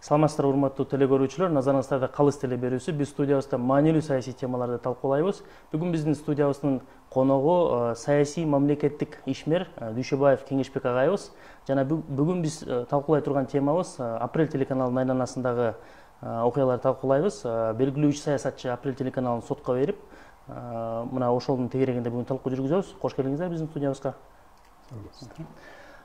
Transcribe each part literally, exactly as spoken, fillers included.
Саламатсыздарбы, урматтуу теле көрүүчүлөр, назарыңыздарда Калыс теле берүүсү. Биз студиябызда маанилүү саясий темаларды талкуулайбыз. Бүгүн биздин студиябыздын коногу саясий мамлекеттик ишмер Дүйшөбаев Кеңешбек агайыбыз. Жана бүгүн биз талкуулай турган темабыз Апрель телеканалынын айланасындагы окуяларды талкуулайбыз. Белгилүү үч саясатчы Апрель телеканалын сотко берип, мына ошолдун тегерегинде бүгүн талкуу жүргүзөбүз. Кош келиңиздер биздин студиябызга.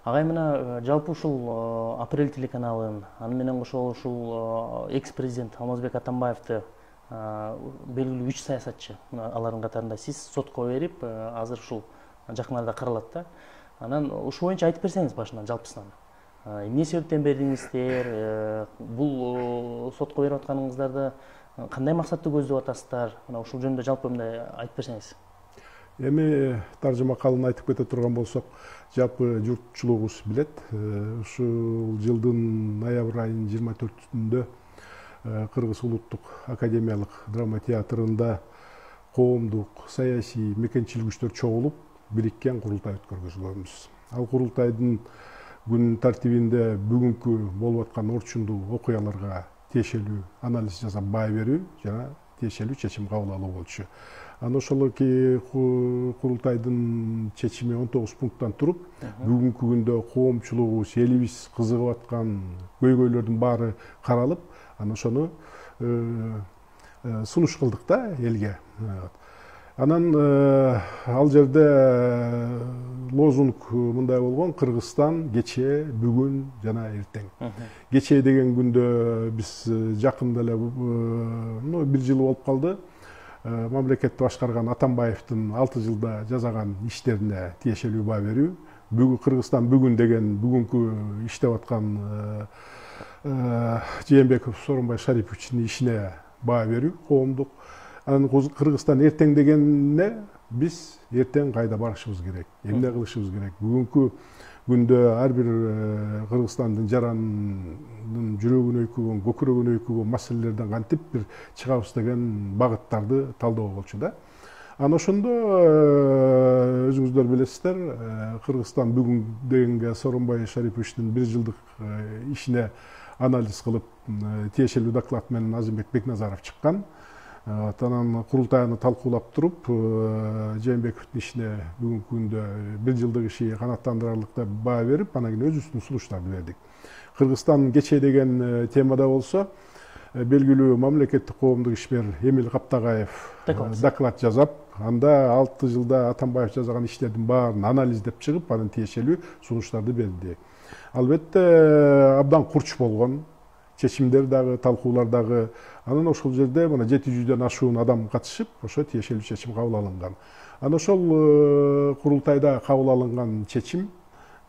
Агай, мына жалпы ушул Апрель телеканалын, аны менен кошо ушул экс-президент Алмазбек Атамбаевди белгилүү үч саясатчы, алардын катарында сиз сотко берип, азыр ушул жакын арада каралат да. Анан ушул боюнча айтып берсеңиз башынан, жалпысынан. Эмне себептен бердиңиздер? Бул сотко берип атканыңыздарды кандай максатты көздөп атасыздар? Мына ушул жөнүндө жалпы мындай айтып берсеңиз. Эми таржыма калын айтып кете турган болсок, жалпы журтчулугубуз билет. Ушул жылдын ноябрь айынын жыйырма төртүндө Кыргыз улуттук академиялык драма театрында коомдук саясий мекенчилгичтер чогулуп, бириккен курултай өткөргүзгөнбүз. Ал курултайдын күн тартибинде бүгүнкү болуп аткан орчундуу окуяларга тиешелүү анализ жасап баа берүү жана тиешелүү чечим кабыл алуу болчу. Аны ошол курултайдын чечими он тогуз пункттан туруп, бүгүнкү күндө коомчулугубуз, элибиз кызыгып аткан көйгөйлөрдүн баары каралып, аны ошону сунуш кылдык да элге. Анан ал жерде лозунг мындай болгон: Кыргызстан кечээ, бүгүн жана эртең. Кечээ деген күндө биз жакында эле бир жыл болуп калды. Мамлекетти башкарган Атамбаевдин алты жылда жасаган иштерине тиешелүү баа берүү. Бүгүн Кыргызстан бүгүн деген бүгүнкү иштеп аткан Жээнбеков Сооронбай Шариповичтин ишине баа берүү коомдук. Анан Кыргызстан эртең дегенине биз эртең кайда барышыбыз керек, эмне кылышыбыз керек? Бүгүнкү күндө ар бир Кыргызстандын жарандын жүрөгүн өйкөгөн, көкүрөгүн өйкөгөн маселелерден кантип бир чыгабыз деген багыттарды талдоо болчу да. Анан ошондо өзүңүздөр билесиздер, Кыргызстан бүгүн дегенге Сооронбай Шариповичтин бир жылдык ишине анализ кылып, тиешелүү доклад менен Азимбек Бекназаров чыккан. Анан курултай аны талкуулап туруп, Жээнбековдун ишине бүгүнкү күндө бир жылдык иши канааттандырарлык деп баа берип, анан кийин өзүбүздүн сунуштарды бердик. Кыргызстан кечээ деген темада болсо, белгилүү мамлекеттик коомдук ишмер Эмил Каптагаев доклад жазап, анда алты жылда Атамбаев жасаган иштердин баарын анализдеп чыгып, анын тиешелүү сунуштарды берди. Албетте абдан курч болгон, чечимдер дагы, талкуулар дагы. Анан ошол жерде мына жети жүздөн ашуун адам катышып, ошо тиешелүү чечим кабыл алынган. Анан ошол курултайда кабыл алынган чечим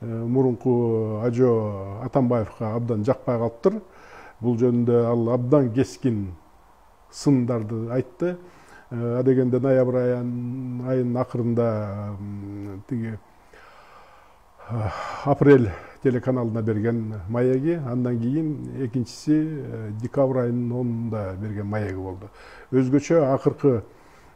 мурунку Ажо Атамбаевга абдан жакпай калыптыр. Бул жөнүндө ал абдан кескин сындарды айтты. Адегенде ноябрь айынын акырында тиги Апрель телеканалына берген маяги, андан кийин экинчиси декабрь айынын онунда берген маяги болду. Өзгөчө акыркы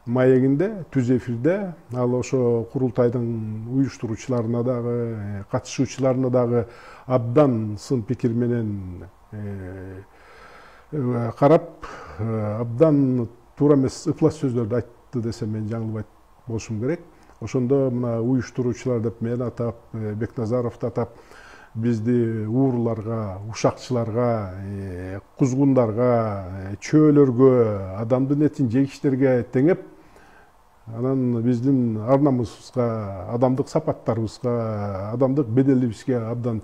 маягинде, түз эфирде ал ошо курултайдын уюштуруучуларына дагы, катышуучуларына дагы абдан сын пикир менен карап, абдан туура эмес ыплас сөздөрдү айтты десем мен жаңылбайт болушум керек. Ошондо мына уюштуруучулар деп мен атап, Бекназаровду атап, бизди ууруларга, ушакчыларга, кузгундарга, чөөлөргө, адамдын этин жегичтерге теңеп, анан биздин ар намысыбызга, адамдык сапаттарыбызга, адамдык беделибизге абдан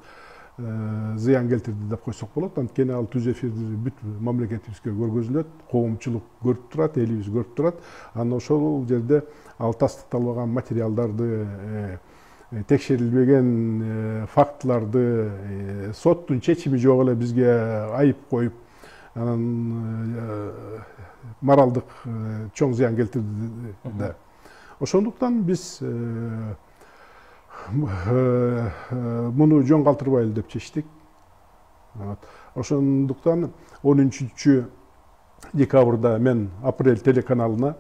зыян келтирди деп койсок болот. Анткени ал түз эфирди бүт мамлекетибизге көргөзүлөт, коомчулук көрүп турат, элибиз көрүп турат. Анан ошол жерде ал тастыкталбаган материалдарды, текшерилбеген фактыларды, соттун чечими жок эле бизге айып коюп, анан моралдык чоң зыян келтирди да. Ошондуктан биз муну жөн калтырбайлы деп чечтик. Ошондуктан он үчүнчү декабрда мен Апрель телеканалына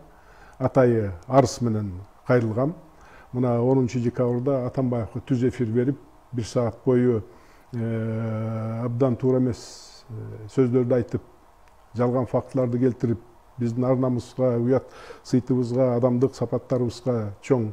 атайы арыз менен кайрылгам. Мына онунчу декабрда Атамбаевга түз эфир берип, бир саат бою абдан туура эмес сөздөрдү айтып, жалган фактыларды келтирип, биздин ар намыска, уят сыйтыбызга, адамдык сапаттарыбызга чоң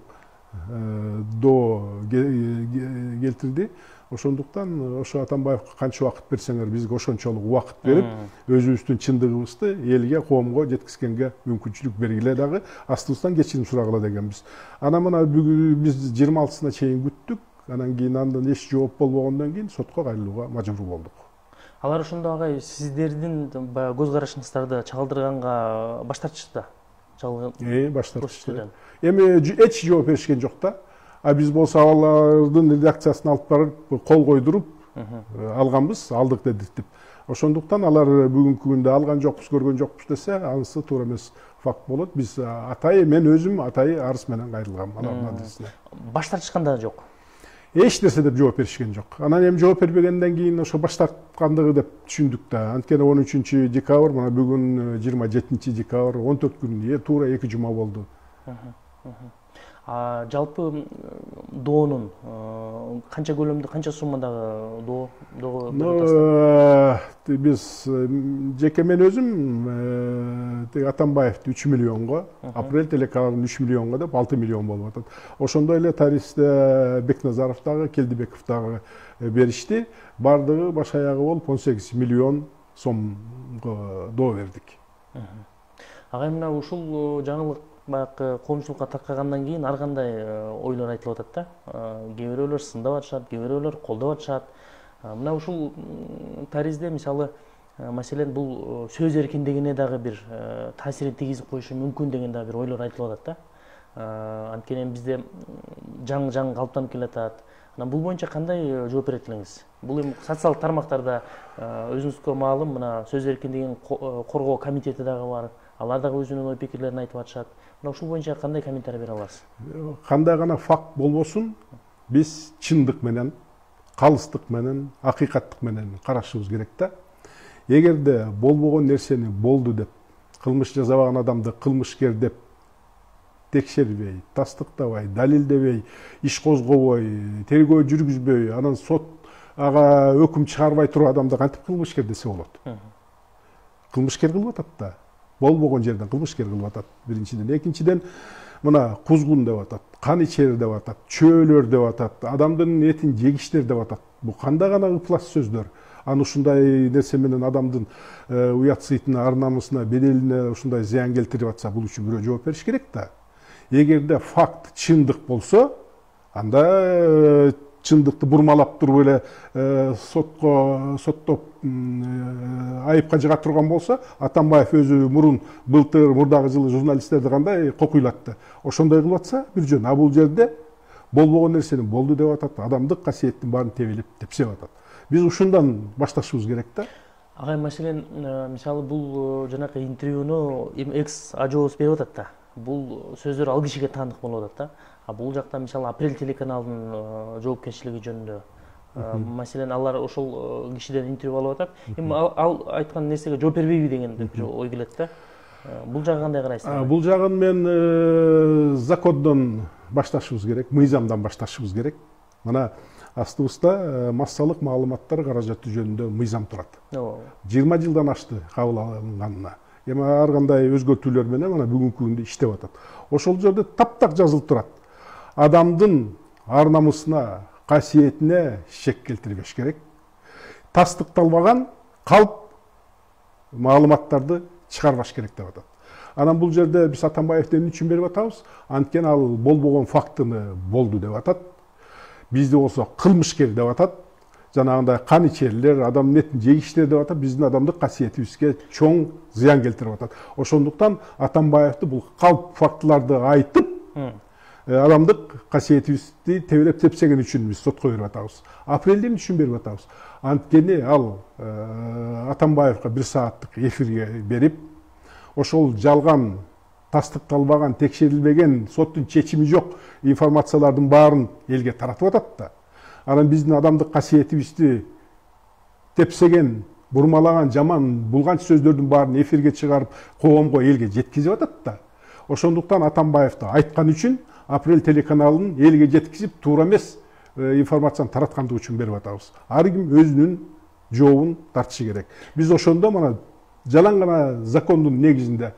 доо келтирди. Ошондуктан ошо Атамбаевге канча убакыт берсеңер, бизге ошончолук убакыт берип, өзүбүздүн чындыгыбызды элге, коомго жеткизгенге мүмкүнчүлүк бергиле дагы, астыбыздан кечирим сурагыла дегенбиз. Анан мына бүгүн биз жыйырма алтысына чейин күттүк. Анан кийин андан эч жооп болбогондон кийин сотко кайрылууга мажбур болдук. Алар ошондо агай сиздердин баягы көз карашыңыздарды чагылдырганга баш тартышты да? Э, баш тартышты. Эми эч жооп беришкен жок да. А биз болсо алардын редакциясына алып барып кол койдуруп алганбыз, алдык дедик деп. Ошондуктан алар бүгүнкү күндө алган жокпуз, көргөн жокпуз десе, анысы туура эмес факт болот. Биз атайы, мен өзүм атайы арыз менен кайрылгам алардын адресине. Баш тартышкан да жок. Эч нерсе деп жооп беришкен жок. Анан эми жооп бербегенден кийин ошо баш тарткандыгы деп түшүндүк да. Анткени он үчүнчү декабрь, мына бүгүн жыйырма жетинчи декабрь, он төрт күн, туура эки жума болду. А жалпы доонун канча көлөмдө, канча суммадагы доо доо? Биз жеке мен өзүм Атамбаевди үч миллионго, Апрель телеканалын үч миллионго деп алты миллион болуп атат. Ошондой эле Таристе Бекназаров дагы, Келдибеков дагы беришти. Бардыгы баш аягы болуп он сегиз миллион сомго доо бердик. Агай, мына ушул жаңылык баягы коомчулукка таркагандан кийин ар кандай ойлор айтылып атат да. Кээ бирөөлөр сындап атышат, кээ бирөөлөр колдоп атышат. Мына ушул Таризде мисалы, маселен, бул сөз эркиндигине дагы бир таасирин тийгизип коюшу мүмкүн деген дагы бир ойлор айтылып атат да. Анткени бизде жаңы-жаңы калыптанып келатат. Анан бул боюнча кандай жооп берет элеңиз? Бул эми социалдык тармактарда өзүңүзгө маалым, мына сөз эркиндигин коргоо комитети дагы бар. Алар дагы өзүнүн ой пикирлерин айтып атышат. Мына ушул боюнча кандай комментарий бере аласыз? Кандай гана факт болбосун, биз чындык менен, калыстык менен, акыйкаттык менен карашыбыз керек да. Эгерде болбогон нерсени болду деп, кылмыш жасабаган адамды кылмышкер деп текшербей, тастыктабай, далилдебей, иш козгобой, тергөө жүргүзбөй, анан сот ага өкүм чыгарбай туруп адамды кантип кылмышкер десе болот? Кылмышкер кылып атат да. Болбогон жерден кылмышкер кылып атат биринчиден. Экинчиден, мына кузгун деп атат, кан ичер деп атат, чөөлөр деп атат, адамдын этин жегиштер деп атат. Бул кандай гана ыплас сөздөр. Аны ушундай нерсе менен адамдын уят сыйтына, ар намысына, беделине ушундай зыян келтирип атса, бул үчүн бирөө жооп бериш керек да. Эгерде факт чындык болсо, анда чындыкты бурмалап туруп эле сотко соттоп айыпка жыга турган болсо, Атамбаев өзү мурун былтыр, мурдагы жылы журналисттерди кандай кокуйлатты. Ошондой кылып атса бир жөн. А бул жерде болбогон нерсени болду деп атат, адамдык касиеттин баарын тебелеп тепсеп атат. Биз ушундан башташыбыз керек да. Агай, маселен, мисалы бул жанакы интервьюну экс ажообуз берип атат да. Бул сөздөр ал кишиге таандык болуп атат да. А бул жакта мисалы Апрель телеканалынын жоопкерчилиги жөнүндө, маселен, алар ошол кишиден интервью алып атат. Эми ал айткан нерсеге жооп бербейби деген бир ой келет да. Бул жагы кандай карайсыз? Бул жагын мен закондон башташыбыз керек, мыйзамдан башташыбыз керек. Мына астыбызда массалык маалыматтар каражаты жөнүндө мыйзам турат. жыйырма жылдан ашты кабыл алынганына. Эми ар кандай өзгөртүүлөр менен мына бүгүнкү күндө иштеп атат. Ошол жерде таптак жазылып турат. Адамдын ар намысына, касиетине шек келтирбеш керек. Тастыкталбаган калп маалыматтарды чыгарбаш керек деп атат. Анан бул жерде биз Атамбаевден үчүн берип атабыз. Анткени ал болбогон фактыны болду деп атат. Бизде болсо кылмышкер деп атат. Жанагындай кан ичерлер, адамдын этин жегиштер деп атат. Биздин адамдык касиетибизге чоң зыян келтирип атат. Ошондуктан Атамбаевди бул калп фактыларды айтып, адамдык касиетибизди тебелеп тепсеген үчүн биз сотко берип атабыз. Апрелден үчүн берип атабыз. Анткени ал Атамбаевга бир сааттык эфирге берип, ошол жалган, тастыкталбаган, текшерилбеген, соттун чечими жок информациялардын баарын элге таратып атат да. Анан биздин адамдык касиетибизди тепсеген, бурмалаган, жаман, булганч сөздөрдүн баарын эфирге чыгарып, коомго, элге жеткизип атат да. Ошондуктан Атамбаевди айткан үчүн Апрель телеканалын элге жеткизип, туура эмес информацияны тараткандыгы үчүн берип атабыз. Ар ким өзүнүн жообун тартышы керек. Биз ошондо мына жалаң гана закондун негизинде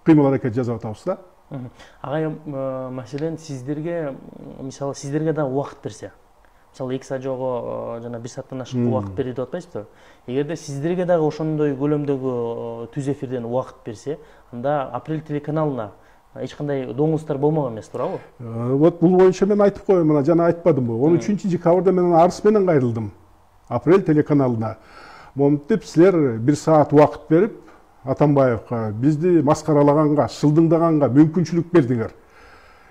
кыймыл аракет жасап атабыз да. Агай, маселен сиздерге, мисалы сиздерге да убакыт берсе, мисалы эки саат жогу жана бир сааттан ашык убакыт берди деп атпайсызбы? Эгерде сиздерге дагы ошондой көлөмдөгү түз эфирден убакыт берсе, анда Апрель телеканалына эч кандай доңуздар болмок эмес, туурабы? Вот бул боюнча мен айтып коеюн, мына жана айтпадымбы? он үчүнчү декабрда мен арыз менен кайрылдым Апрель телеканалына. Монтип силер бир саат убакыт берип Атамбаевка бизди маскаралаганга, шылдыңдаганга мүмкүнчүлүк бердиңер.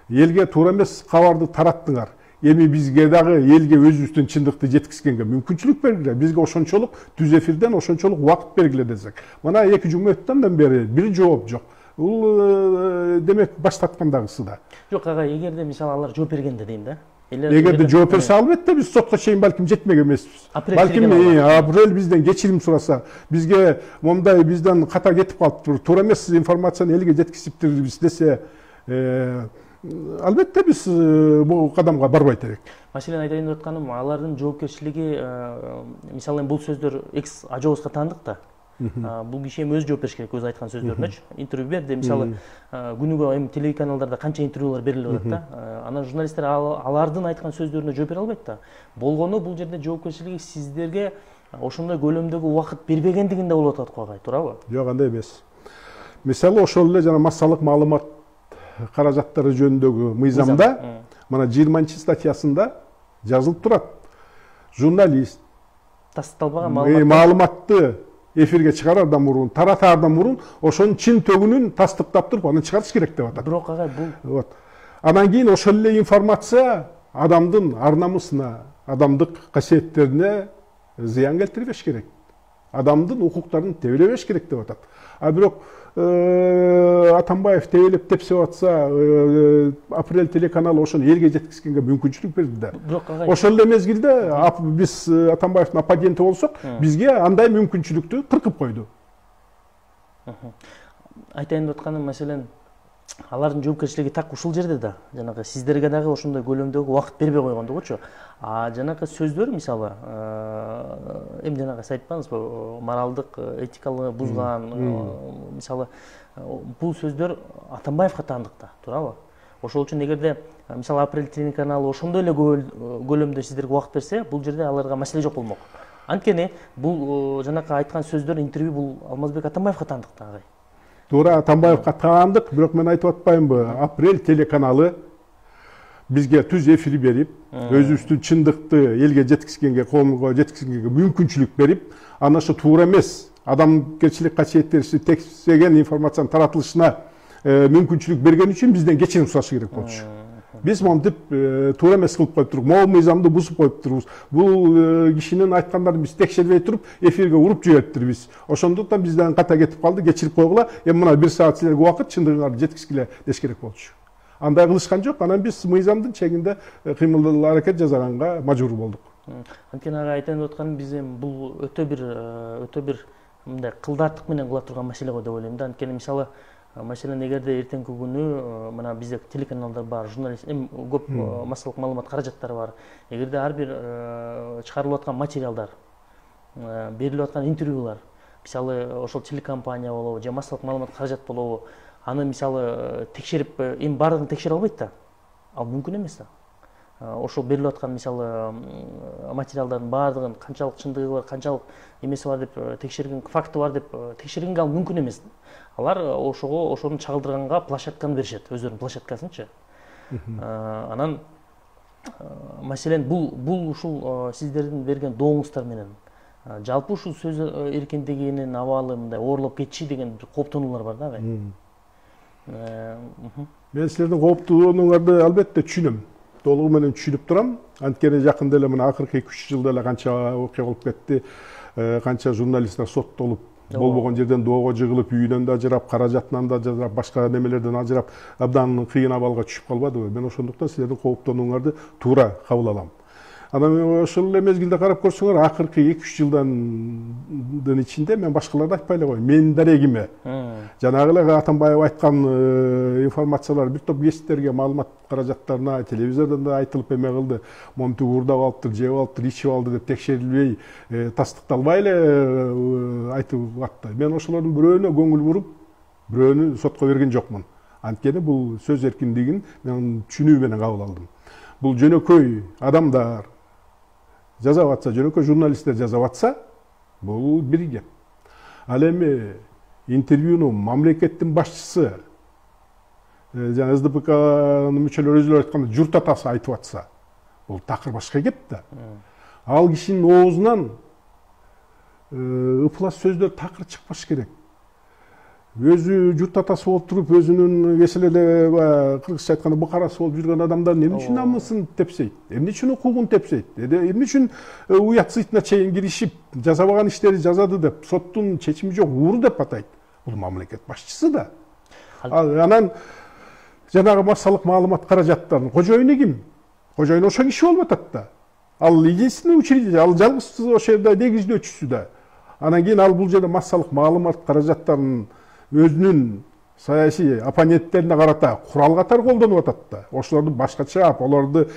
Элге туура эмес кабарды тараттыңар. Эми бизге дагы элге өзүбүздүн чындыкты жеткизгенге мүмкүнчүлүк бергиле. Бизге ошончолук түз эфирден ошончолук убакыт бергиле десек. Мына эки жума өттөн бери бир жооп жок. Бул демек баштаткандагысы да. Жок агай, эгерде мисалы алар жооп бергенде дейм да. Эгерде жооп берсе албетте биз сотко чейин балким жетмек эмеспиз. Балким Апрель бизден кечирим сураса, бизге мондай бизден ката кетип калыптыр, туура эмес информацияны элге жеткизиптирбиз десе, албетте биз бул кадамга барбайт элек. Маселен айтайын деп атканым, алардын жоопкерчилиги, мисалы бул сөздөр экс ажообузга таандык да. Бул киши эми өзү жооп бериш керек, өзү айткан сөздөрүнөчү. Интервью берди, мисалы күнүгө эми телеканалдарда канча интервьюлар берилип атат да. Анан журналисттер алардын айткан сөздөрүнө жооп бере албайт да. Болгону бул жерде жоопкерчилиги сиздерге ошондой көлөмдөгү убакыт бербегендигинде болуп атат го агай, туурабы? Жок, андай эмес. Мисалы ошол эле жана массалык маалымат каражаттары жөнүндөгү мыйзамда мына жыйырманчы статьясында жазылып турат. Журналист тастыкталбаган маалыматты эфирге чыгарардан мурун, таратаардан мурун ошонун чын төгүнүн тастыктап туруп, аны чыгарыш керек деп атат. Бирок агай бул вот. Анан кийин ошол эле информация адамдын ар намысына, адамдык касиеттерине зыян келтирбеш керек. Адамдын укуктарын тебелебеш керек деп атат. А бирок Атамбаев тебелеп тепсеп атса, Апрель телеканалы ошону элге жеткизгенге мүмкүнчүлүк берди да. Бирок агай, ошол эле мезгилде биз Атамбаевдин оппоненти болсок, бизге андай мүмкүнчүлүктү кыркып койду. Айтайын деп атканым, маселен алардын жоопкерчилиги так ушул жерде да. Жанагы сиздерге дагы ошондой көлөмдөгү убакыт бербей койгондугучу. А жанагы сөздөр, мисалы, эми жанагы сиз айтпаңызбы, моралдык, этикалык бузган, мисалы, бул сөздөр Атамбаевга таандык да, туурабы? Ошол үчүн эгерде мисалы Апрель телеканалы ошондой эле көлөмдө сиздерге убакыт берсе, бул жерде аларга маселе жок болмок. Анткени бул жанагы айткан сөздөр, интервью бул Алмазбек Атамбаевга таандык да агай. Туура, Атамбаевга таандык, бирок мен айтып атпаймынбы, Апрель телеканалы бизге түз эфир берип, өзүбүздүн чындыкты элге жеткизгенге, коомго жеткизгенге мүмкүнчүлүк берип, анан ошо туура эмес адамгерчилик касиеттерибизди текшеген информациянын таратылышына мүмкүнчүлүк берген үчүн бизден кечирим сурашы керек болчу. Биз монтип туура эмес кылып коюптурук, могу мыйзамды бузуп коюптурбуз. Бул кишинин айткандарын биз текшербей туруп, эфирге уруп жибериптирбиз. Ошондуктан бизден ката кетип калды, кечирип койгула. Эми мына бир саат силерге убакыт чындыгыңарды жеткизгиле деш керек болчу. Андай кылышкан жок, анан биз мыйзамдын чегинде кыймыл аракет жасаганга мажбур болдук. Анткени ага айтайын деп атканым, биз эми бул өтө бир өтө бир мындай кылдааттык менен кыла турган маселе го деп ойлойм да. Анткени мисалы, маселен эгерде эртеңки күнү мына бизде телеканалдар бар, журналист, эми көп массалык маалымат каражаттары бар. Эгерде ар бир чыгарылып аткан материалдар, берилип аткан интервьюлар, мисалы ошол телекомпания болобу же массалык маалымат каражат болобу, аны мисалы текшерип, эми баардыгын текшере албайт да. Ал мүмкүн эмес да. Ошол берилип аткан мисалы материалдардын баардыгын канчалык чындыгы бар, канчалык эмеси бар деп текшерген, факты бар деп текшергенге ал мүмкүн эмес. Алар ошого ошону чагылдырганга площадканы беришет, өздөрүнүн площадкасынчы. Анан маселен бул бул ушул сиздердин берген доңуздар менен жалпы ушул сөз эркиндигинин абалы мындай оорлоп кетиши деген бир кооптонуулар бар да агай. Мен силердин кооптонууңарды албетте түшүнөм. Толугу менен түшүнүп турам. Анткени жакында эле мына акыркы эки үч жылда эле канча окуя болуп кетти, канча журналисттер соттолуп, болбогон жерден доого жыгылып, үйүнөн да ажырап, каражатынан да ажырап, башка немелерден ажырап, абдан кыйын абалга түшүп калбадыбы? Мен ошондуктан силердин кооптонууңарды туура кабыл алам. Анан ошол эле мезгилде карап көрсөңөр, акыркы эки үч жылдын ичинде мен башкаларды айтпай эле коеюн, менин дарегиме жанагы эле Атамбаев айткан информациялар бир топ гезиттерге, маалымат каражаттарына, телевизордон да айтылып эме кылды. Момтук уурдап алыптыр, жеп алыптыр, ичип алды деп текшерилбей, тастыкталбай эле айтып атты. Мен ошолордун бирөөнө көңүл буруп, бирөөнү сотко берген жокмун. Анткени бул сөз эркиндигин мен түшүнүү менен кабыл алдым. Бул жөнөкөй адамдар жазап атса, жөнөкөй журналисттер жазап атса, бул бир геп. Ал эми интервьюну мамлекеттин башчысы, жана эс дэ пэ канын мүчөлөрү өзүлөрү айтканда журт атасы айтып атса, бул такыр башка кеп да. Ал кишинин оозунан ыплас сөздөр такыр чыкпаш керек. Өзү журт атасы болуп туруп, өзүнүн кеселеде кыргызча айтканда быкарасы болуп жүргөн адамдар эмне үчүн намысын тепсейт, эмне үчүн укугун тепсейт, эмне үчүн уят сыйтына чейин киришип, жасабаган иштери жазады деп, соттун чечими жок, ууру деп атайт. Бул мамлекет башчысы да. Анан жанагы массалык маалымат каражаттарынын кожоюну ким? Кожоюн ошо киши болуп атат да. Ал единственный учредитель, ал жалгыз ошол жерде негиздөөчүсү да. Анан кийин ал бул жерде массалык маалымат каражаттарынын өзүнүн саясий оппоненттерине карата курал катары колдонуп атат да. Ошолорду башкача, аларды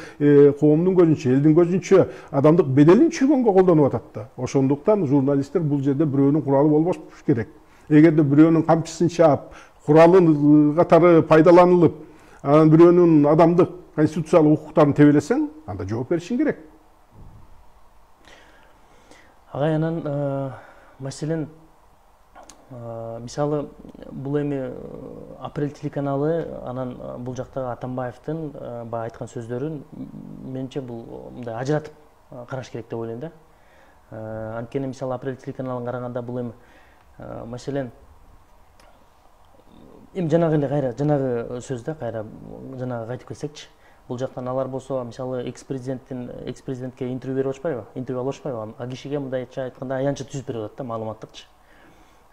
коомдун көзүнчө, элдин көзүнчө адамдык беделин түшүргөнгө колдонуп атат да. Ошондуктан журналисттер бул жерде бирөөнүн куралы болбош керек. Эгерде бирөөнүн камчысын чаап, куралын катары пайдаланылып, анан бирөөнүн адамдык конституциялык укуктарын тебелесең, анда жооп беришиң керек. Агай, анан маселен мисалы бул эми Апрель телеканалы, анан бул жактагы Атамбаевдин баягы айткан сөздөрүн менимче бул мындай ажыратып караш керек деп ойлойм да. Анткени мисалы Апрель телеканалын караганда бул эми маселен эми жанагы эле кайра жанагы сөз да, кайра жанагы кайтып келсекчи, бул жактан алар болсо мисалы экс-президенттин экс-президентке интервью берип атышпайбы, интервью алып атышпайбы, а кишиге мындайча айтканда аянтча түзүп берип атат да, маалыматтыкчы.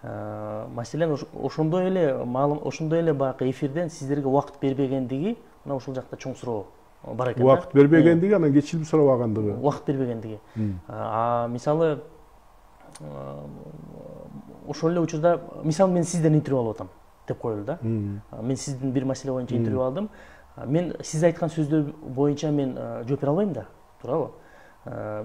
Маселен ошондой эле ошондой эле баягы эфирден сиздерге убакыт бербегендиги мына ушул жакта чоң суроо бар экен да. Убакыт бербегендиги, анан кечирип сурабагандыгы. Убакыт бербегендиги. А мисалы ошол эле учурда, мисалы мен сизден интервью алып атам деп коелу да. Мен сиздин бир маселе боюнча интервью алдым. Мен сиз айткан сөздөр боюнча мен жооп бере албайм да, туурабы?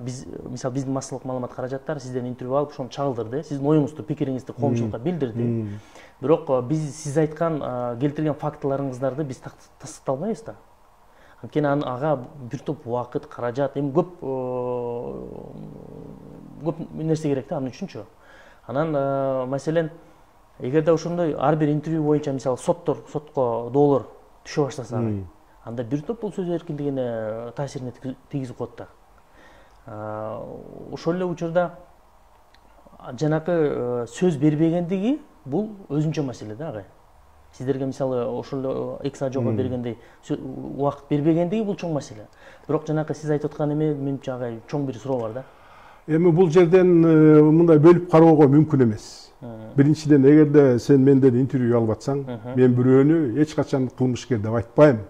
Биз мисалы биздин массалык маалымат каражаттар сизден интервью алып, ошону чагылдырды, сиздин оюңузду, пикириңизди коомчулукка билдирди. Бирок биз сиз айткан, келтирген фактыларыңыздарды биз тастыкталбайбыз да. Анткени ага бир топ убакыт, каражат, эми көп көп нерсе керек да, аны үчүнчү. Анан маселен, эгерде ошондой ар бир интервью боюнча мисалы соттор, сотко доолор түшө баштаса, анда бир топ бул сөз эркиндигине таасирин тийгизип коет да. Ошол эле учурда жанакы сөз бербегендиги бул өзүнчө маселе да, агай. Сиздерге мисалы ошол эле экс ажого бергендей убакыт бербегендиги бул чоң маселе. Бирок жанакы сиз айтып аткан эме менимче агай чоң бир суроо бар да. Эми бул жерден мындай бөлүп кароого мүмкүн эмес. Биринчиден, эгерде сен менден интервью алып атсаң, мен бирөөнү эч качан кылмышкер деп айтпайм.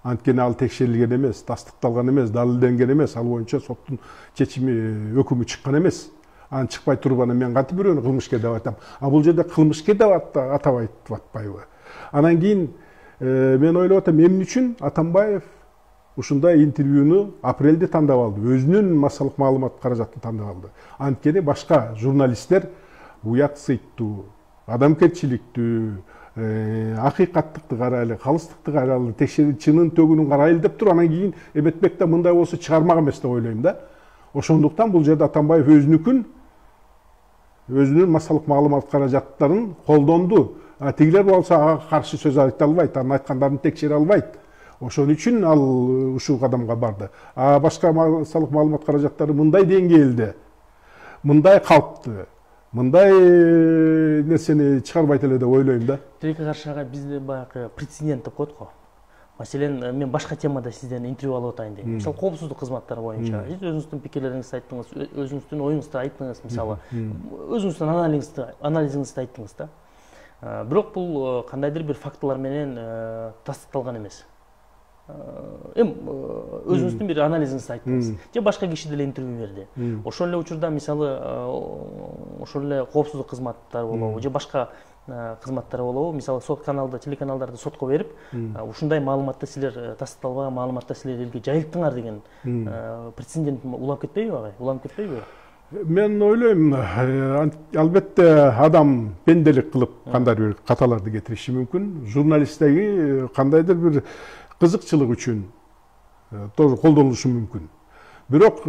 Анткени ал текшерилген эмес, тастыкталган эмес, далилденген эмес, ал боюнча соттун чечими, өкүмү чыккан эмес. Анын чыкпай туруп анан мен кантип бирөөнү кылмышкер деп айтам. А бул жерде кылмышкер деп атап айтып атпайбы? Анан кийин мен ойлоп атам, эмне үчүн Атамбаев ушундай интервьюну апрелде тандап алды, өзүнүн массалык маалымат каражатын тандап алды. Анткени башка журналисттер уят сыйттуу, адамгерчиликтүү, акыйкаттыкты карайлы, калыстыкты карайлы, текшерип чынын төгүнүн карайлы деп туруп, анан кийин эметпек да мындай болсо чыгармак эмес деп ойлойм да. Ошондуктан бул жерде Атамбаев өзүнүкүн, өзүнүн массалык маалымат каражаттарын колдонду. Тигилер болсо ага каршы сөз айта албайт, анын айткандарын текшере албайт. Ошон үчүн ал ушул кадамга барды. А башка массалык маалымат каражаттары мындай деңгээлде, мындай калпты, мындай нерсени чыгарбайт эле деп ойлойм да. Тилекке каршы агай, бизде баягы прецедент деп коет го. Маселен, мен башка темада сизден интервью алып атайын дейм. Мисалы, коопсуздук кызматтары боюнча сиз өзүңүздүн пикирлериңизди айттыңыз, өзүңүздүн оюңузду айттыңыз, мисалы, өзүңүздүн анализиңизди анализиңизди айттыңыз да. Бирок бул кандайдыр бир фактылар менен тастыкталган эмес. эми өзүңүздүн бир анализиңизди айттыңыз же башка киши деле интервью берди. Ошол эле учурда мисалы ошол эле коопсуздук кызматтары болобу же башка кызматтары болобу, мисалы сот каналда, телеканалдарды сотко берип, ушундай маалыматты силер тастыкталбаган маалыматты силер элге жайылттыңар деген прецедент уланып кетпейби агай? Уланып кетпейби? Мен ойлойм, албетте адам пенделик кылып кандайдыр бир каталарды кетириши мүмкүн. Журналисттеги кандайдыр бир кызыкчылык үчүн тоже колдонулушу мүмкүн. Бирок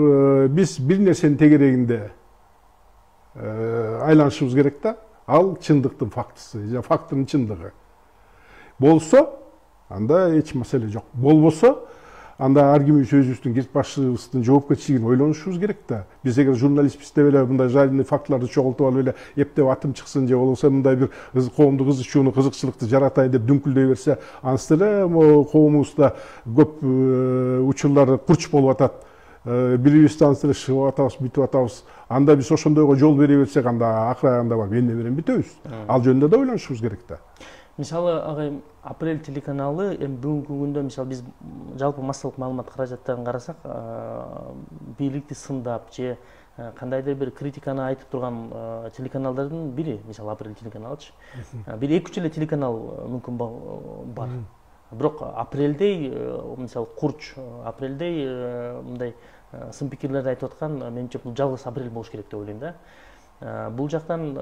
биз бир нерсенин тегерегинде айланышыбыз керек да. Ал чындыктын фактысы, же фактынын чындыгы. Болсо, анда эч маселе жок. Болбосо, анда ар кимибиз өзүбүздүн кирип башыбыздын жоопкерчилигин ойлонушубуз керек да. Биз эгер журналистпиз деп эле мындай жайылымдуу фактыларды чогултуп алып эле эптеп атым чыксын же болбосо мындай бир коомдук кызычууну, кызыкчылыкты жаратайын деп дүңкүлдөй берсе, ансыз эле коомубузда көп учурлар курч болуп атат. Бирибизди ансыз эле шыгып атабыз, бүтүп атабыз. Анда биз ошондойго жол бере берсек, анда акырагында барып эмне менен бүтөбүз. Ал жөнүндө да ойлонушубуз керек да. Мисалы, агай, Апрель телеканалы эми бүгүнкү күндө мисалы биз жалпы массалык маалымат каражаттарын карасак, бийликти сындап же кандайдыр бир критиканы айтып турган телеканалдардын бири, мисалы Апрель телеканалычы. Бир эки үч эле телеканал мүмкүн бар. Бирок Апрелдей, мисалы Курч, Апрелдей мындай сын пикирлерди айтып аткан, менимче бул жалгыз Апрель болуш керек деп ойлойм да. Бул жактан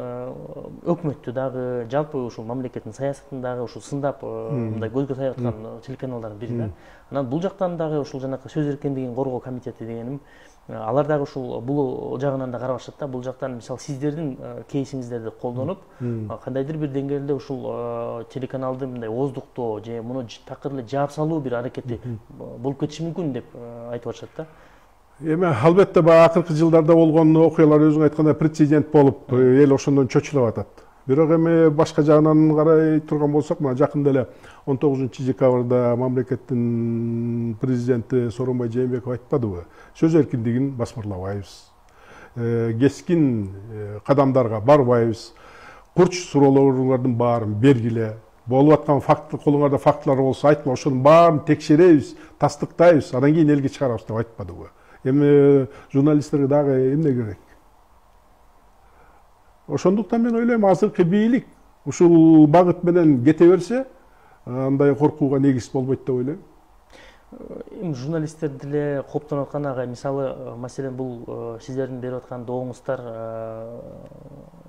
өкмөттү дагы, жалпы ушул мамлекеттин саясатын дагы ушул сындап мындай көзгө тайып аткан телеканалдардын бири да. Анан бул жактан дагы ушул жанакы сөз эркиндигин коргоо комитети дегеним, алар дагы ушул бул жагынан да карабашат да. Бул жактан мисалы сиздердин кейсиңиздерди колдонуп, кандайдыр бир деңгээлде ушул телеканалды мындай ооздуктоо же муну такыр эле жаап салуу бир аракети болуп кетиши мүмкүн деп айтып атышат да. Эми албетте баягы акыркы жылдарда болгон окуялар өзүң айткандай прецедент болуп, эл ошондон чочулап атат. Бирок эми башка жагынан карай турган болсок, мына жакында эле он тогузунчу декабрда мамлекеттин президенти Сооронбай Жээнбеков айтпадыбы? Сөз эркиндигин басмырлабайбыз. Кескин кадамдарга барбайбыз. Курч суроолордун баарын бергиле. Болуп аткан факт, колуңарда фактылар болсо айтма, ошонун баарын текшеребиз, тастыктайбыз, анан кийин элге чыгарабыз деп айтпадыбы? Эми журналисттерге дагы эмне керек? Ошондуктан мен ойлойм, азыркы бийлик ушул багыт менен кете берсе, андай коркууга негиз болбойт деп ойлойм. Эми журналисттер деле кооптонуп аткан агай, мисалы, маселен бул сиздердин берип аткан доогуңуздар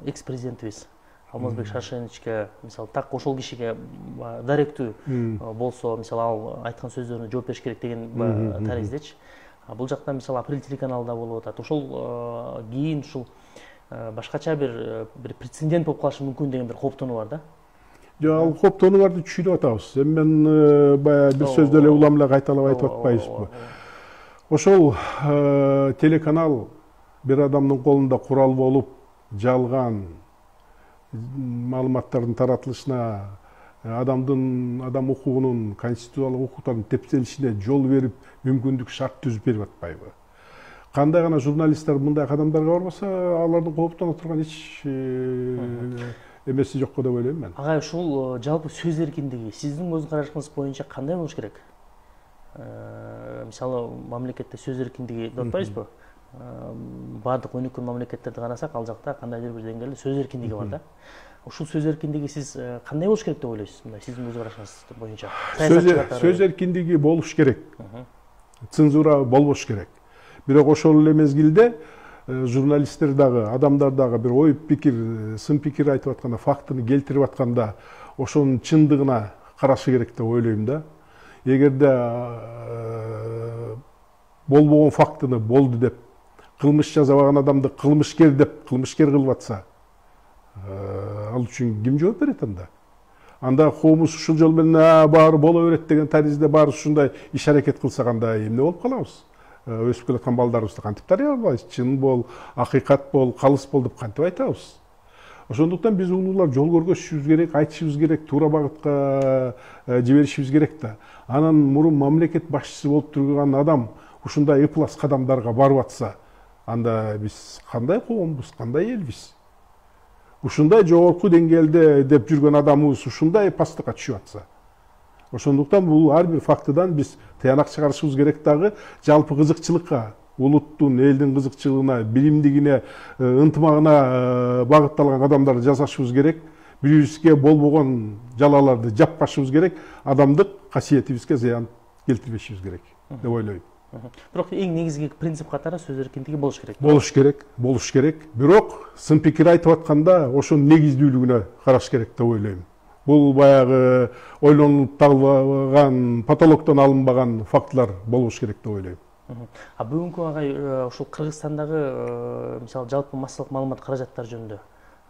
экс-президентибиз Алмазбек Шаршеновичке, мисалы, так ошол кишиге даректүү болсо, мисалы, ал айткан сөздөрүнө жооп бериш керек деген тариздечи. Бул жакта мисалы Апрель телеканалда болуп атат. Ошол кийин ушул башкача бир бир прецедент болуп калышы мүмкүн деген бир кооптонуу бар да. Жок, ал кооптонууларды түшүнүп атабыз. Эми мен баягы бир сөздү эле улам эле кайталап айтып атпайбызбы? Ошол телеканал бир адамдын колунда курал болуп, жалган маалыматтардын таратылышына, адамдын адам укугунун, конституциялык укуктардын тепселишине жол берип, мүмкүндүк шарт түзүп берип атпайбы? Кандай гана журналисттер мындай кадамдарга барбаса, алардын кооптоно турган эч эмеси жок деп ойлойм мен. Агай, ушул жалпы сөз эркиндиги сиздин көз карашыңыз боюнча кандай болуш керек? Мисалы, мамлекетте сөз эркиндиги деп атпайбызбы? Бардык өнүккөн мамлекеттерди карасак, ал жакта кандайдыр бир деңгээлде сөз эркиндиги бар да. Ушул сөз эркиндиги сиз кандай болуш керек деп ойлойсуз? Мындай сиздин көз карашыңыз боюнча. Сөз эркиндиги болуш керек. Цензура болбош керек. Бирок ошол эле мезгилде журналисттер дагы, адамдар дагы бир ой пикир, сын пикир айтып атканда, фактыны келтирип атканда, ошонун чындыгына карашы керек деп ойлойм да. Эгерде болбогон фактыны болду деп, кылмыш жасабаган адамды кылмышкер деп, кылмышкер кылып атса, ал үчүн ким жооп берет анда? Анда коомубуз ушул жол менен баары боло берет деген таризде баары ушундай иш аракет кылсак, анда эмне болуп калабыз? Өсүп келаткан балдарыбызды кантип тарбиялайбыз? Чын бол, акыйкат бол, калыс бол деп кантип айтабыз? Ошондуктан биз улуулар жол көргөзүшүбүз керек, айтышыбыз керек, туура багытка жиберишибиз керек да. Анан мурун мамлекет башчысы болуп турган адам ушундай ыплас кадамдарга барып атса, анда биз кандай коомбуз, кандай элбиз? Ушундай жогорку деңгээлде деп жүргөн адамыбыз ушундай пастыкка түшүп атса, Ошондуктан бул ар бир фактыдан биз тыянак чыгарышыбыз керек дагы, жалпы кызыкчылыкка, улуттун, элдин кызыкчылыгына, билимдигине, ынтымагына багытталган кадамдарды жасашыбыз керек. Бири-бирибизге болбогон жалаларды жаппашыбыз керек, адамдык касиетибизге зыян келтирбешибиз керек деп ойлойм. Бирок эң негизги принцип катары сөз эркиндиги болуш керек. Болуш керек, болуш керек. Бирок сын пикир айтып атканда ошонун негиздүүлүгүнө караш керек деп ойлойм. Бул баягы ойлонуп табылган, потолоктон алынбаган фактылар болуш керек деп ойлойм. А бүгүнкү агай ушул Кыргызстандагы мисалы жалпы массалык маалымат каражаттары жөнүндө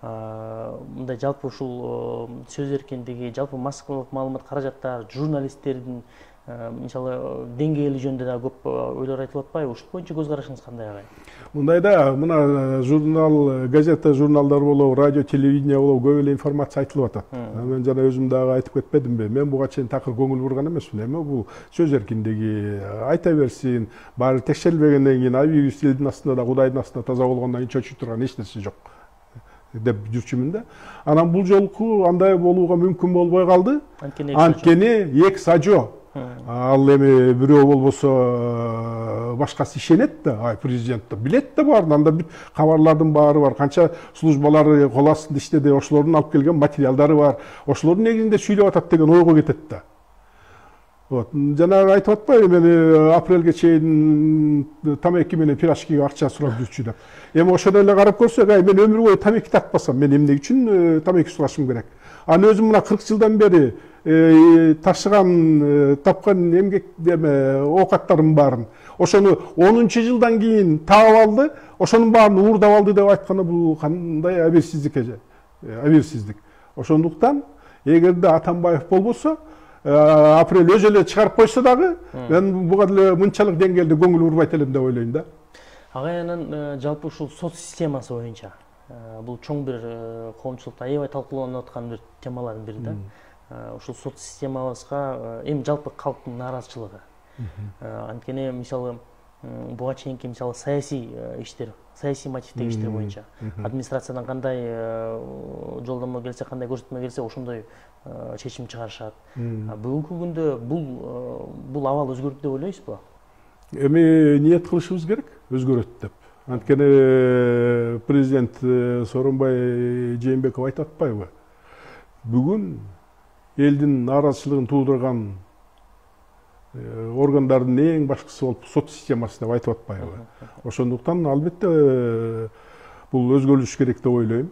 мындай жалпы ушул сөз эркиндиги, жалпы массалык маалымат каражаттары, журналисттердин мисалы деңгээли жөнүндө да көп ойлор айтылып атпайбы? Ушул боюнча көз карашыңыз кандай агай? Мындайда мына журнал, газета, журналдар болобу, радио, телевидение болобу көп эле информация айтылып атат. Мен жана өзүм дагы айтып кетпедимби? Мен буга чейин такыр көңүл бурган эмесмин. Эми бул сөз эркиндиги, айта берсин, баары текшерилбегенден кийин абийбиз элдин астында да Кудайдын астында таза болгондон кийин чочуй турган эч нерсе жок деп жүрчүмүн да. Анан бул жолку андай болууга мүмкүн болбой калды. Анткени эки сажо. Ал эми бирөө болбосо башкасы ишенет да, ай президент да билет да баарын, анда бүт кабарлардын баары бар, канча службалары кол астында иштеди, ошолордун алып келген материалдары бар, ошолордун негизинде сүйлөп атат деген ойго кетет да. Вот, жанагы айтып атпайбы, мени апрелге чейин тамеки менен пирожкиге акча сурап жүрчү деп. Эми ошондой эле карап көрсөк, ай мен өмүр бою тамеки тартпасам, мен эмне үчүн тамеки сурашым керек? Аны өзүм мына кырк жылдан бери ташыган, тапкан эмгек деме оокаттарым баарын ошону онунчу жылдан кийин таап алды, ошонун баарын уурдап алды деп айтканы бул кандай абийирсиздик эже, абийирсиздик. Ошондуктан эгерде Атамбаев болбосо, апрель өзү эле чыгарып койсо дагы, мен буга деле мынчалык деңгээлде көңүл бурбайт элем деп ойлойм да. Агай анан жалпы ушул сот системасы боюнча бул чоң бир коомчулукта аябай талкууланып аткан бир темалардын бири да. Ушул сот системабызга эми жалпы калктын нааразычылыгы. Анткени мисалы буга чейинки мисалы саясий иштер, саясий мотивдеги иштер боюнча администрациядан кандай жолдомо келсе, кандай көрсөтмө келсе, ошондой чечим чыгарышат. Бүгүнкү күндө бул бул абал өзгөрдү деп ойлойсузбу? Эми ниет кылышыбыз керек, өзгөрөт деп. Анткени президент Сооронбай Жээнбеков айтып атпайбы? Бүгүн элдин нааразычылыгын туудурган органдардын эң башкысы болуп сот системасы деп айтып атпайбы? Ошондуктан албетте бул өзгөрүлүш керек деп ойлойм.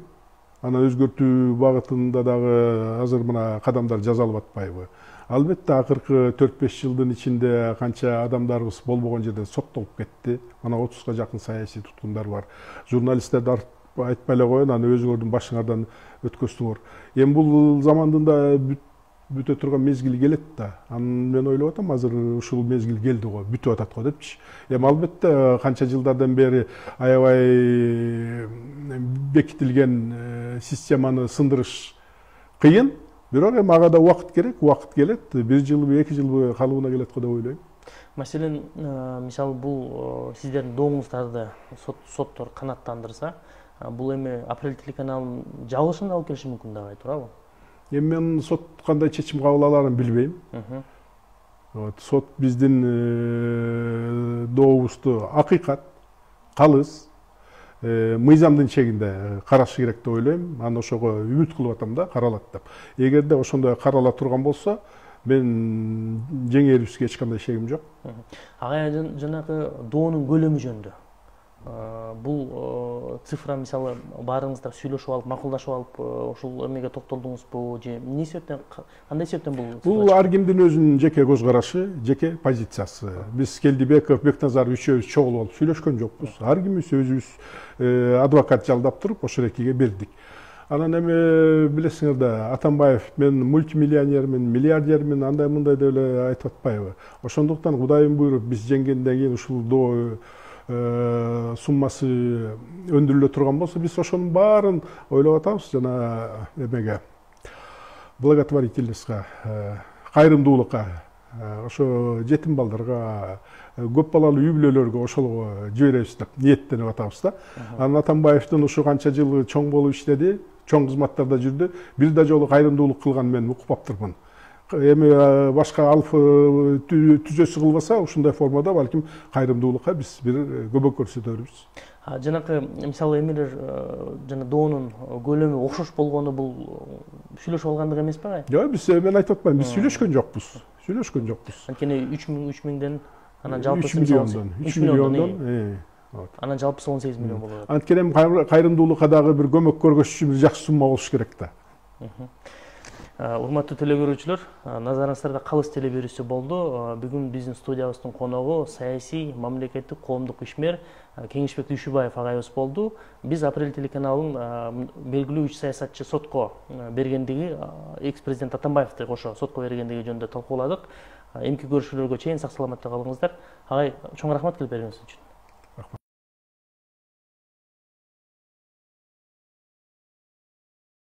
Аны өзгөртүү багытында дагы азыр мына кадамдар жасалып атпайбы? Албетте акыркы төрт беш жылдын ичинде канча адамдарыбыз болбогон жерде соттолуп кетти. Ана отузга жакын саясий туткундар бар. Журналисттерди айтпай эле коеюн, аны өзүңөрдүн башыңардан өткөздүңөр. Эми бул замандын да бүтө турган мезгили келет да. Анан мен ойлоп атам, азыр ушул мезгил келди го, бүтүп атат го депчи. Эми албетте канча жылдардан бери аябай бекитилген системаны сындырыш кыйын. Бирок эми ага да убакыт керек, убакыт келет. Бир жылбы, эки жылбы калыбына келет го деп ойлойм. Маселен, мисалы бул сиздердин дооңуздарды соттор канааттандырса, бул эми Апрель телеканалынын жабылышына алып келиши мүмкүн деп турабы? Эми мен сот кандай чечим кабыл аларын билбейм. Сот биздин дообузду акыйкат, калыс, мыйзамдын чегинде карашы керек деп ойлойм. Аны ошого үмүт кылып атам да, каралат деп. Эгерде ошондой карала турган болсо, мен жеңээрибизге эч кандай шегим жок. Агай жанагы доонун көлөмү жөнүндө бул цифра мисалы баарыңыздар сүйлөшүп алып, макулдашып алып, ошол эмеге токтолдуңузбу же эмне себептен, кандай себептен бул? Бул ар кимдин өзүнүн жеке көз карашы, жеке позициясы. Биз Келдибеков, Бекназаров үчөөбүз чогулуп алып сүйлөшкөн жокпуз. Ар кимибиз өзүбүз адвокат жалдап туруп ошол экиге бердик. Анан эми билесиңер да, Атамбаев мен мультимиллионермин, миллиардермин, андай мындай деп эле айтып атпайбы? Ошондуктан Кудайым буйруп биз жеңгенден кийин ушул доо суммасы өндүрүлө турган болсо, биз ошонун баарын ойлоп атабыз жана эмеге благотворительностька, кайрымдуулукка, ошо жетим балдарга, көп балалуу үй бүлөлөргө ошолго жиберебиз деп ниеттенип атабыз да. Анан Атамбаевдин ушу канча жыл чоң болуп иштеди, чоң кызматтарда жүрдү. Бир да жолу кайрымдуулук кылганын мен укпаптырмын. эми башка алып түзөсү кылбаса ушундай формада балким кайрымдуулукка биз бир көмөк көрсөтөрбүз. Жанакы мисалы эмелер жана доонун көлөмү окшош болгону бул сүйлөшүп алгандык эмеспи агай? Жок, биз мен айтып атпайм, биз сүйлөшкөн жокпуз. Сүйлөшкөн жокпуз. Анткени үч миң үч миңден анан жалпысы үч миллиондон, үч миллиондон, анан жалпысы он сегиз миллион болот. Анткени эми кайрымдуулукка дагы бир көмөк көргөзүш үчүн бир жакшы сумма болуш керек да. Урматтуу теле көрүүчүлөр, назарыңыздарда Калыс телеберүүсү болду. Бүгүн биздин студиябыздын коногу саясий, мамлекеттик, коомдук ишмер Кеңешбек Дүйшүбаев агайыбыз болду. Биз Апрель телеканалынын белгилүү үч саясатчы сотко бергендиги, экс-президент Атамбаевди кошо сотко бергендиги жөнүндө талкууладык. Эмки көрүшүүлөргө чейин сак саламатта калыңыздар. Агай, чоң рахмат келип бергениңиз үчүн.